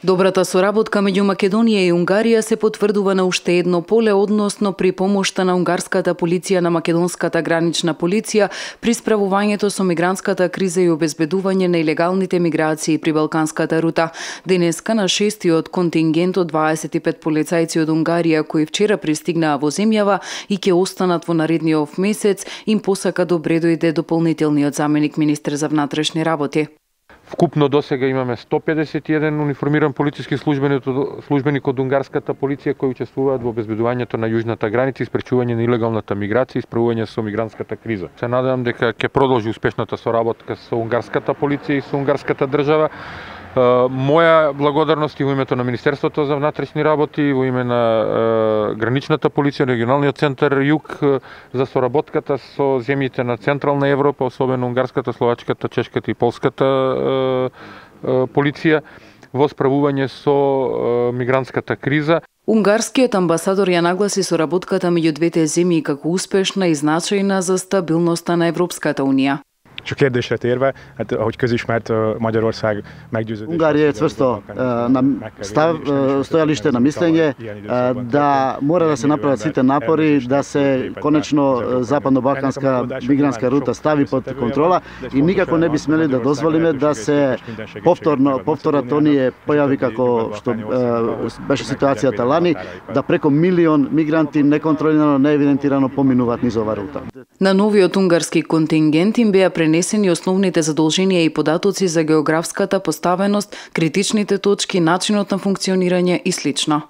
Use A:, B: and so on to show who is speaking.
A: Добрата соработка меѓу Македонија и Унгарија се потврдува на уште едно поле, односно при помошта на унгарската полиција на македонската гранична полиција при справувањето со мигрантската криза и обезбедување на илегалните миграции при Балканската рута. Денеска на 6-тиот контингент од 25 полицајци од Унгарија кои вчера пристигнаа во земјава и ќе останат во наредниот месец, им посака добре дојде дополнителниот заменик министер за внатрешни работи.
B: Вкупно досега имаме 151 униформиран полициски службеник од унгарската полиција кои учествуваат во обезбедувањето на јужната граница и спречување на илегалната миграција и справување со мигрантската криза. Се надевам дека ќе продолжи успешната соработка со унгарската полиција и со унгарската држава. Моја благодарност и во името на Министерството за внатрешни работи, во име на граничната полиција, регионалниот центар Југ за соработката со земјите на Централна Европа, особено унгарската, словачката, чешката и полската полиција во справување со мигрантската криза.
A: Унгарскиот амбасадор ја нагласи соработката меѓу двете земји како успешна и значајна за стабилноста на Европската унија.
C: És a kérdésre térve, hát ahogy közismert, Magyarország meggyőződés.
D: Унгарија е цврсто на стојалиште на мислење да мора да се направат сите напори да се конечно западно-балканска мигрантска рута стави под контрола и никако не би смели да дозволиме да се повторат оние појави како што беше ситуацијата лани, да преку милион мигранти неконтролирано, неевидентирано поминуваат низ оваа рута.
A: На новиот унгарски контингент им беа пренесени основните задолженија и податоци за географската поставеност, критичните точки, начинот на функционирање и слично.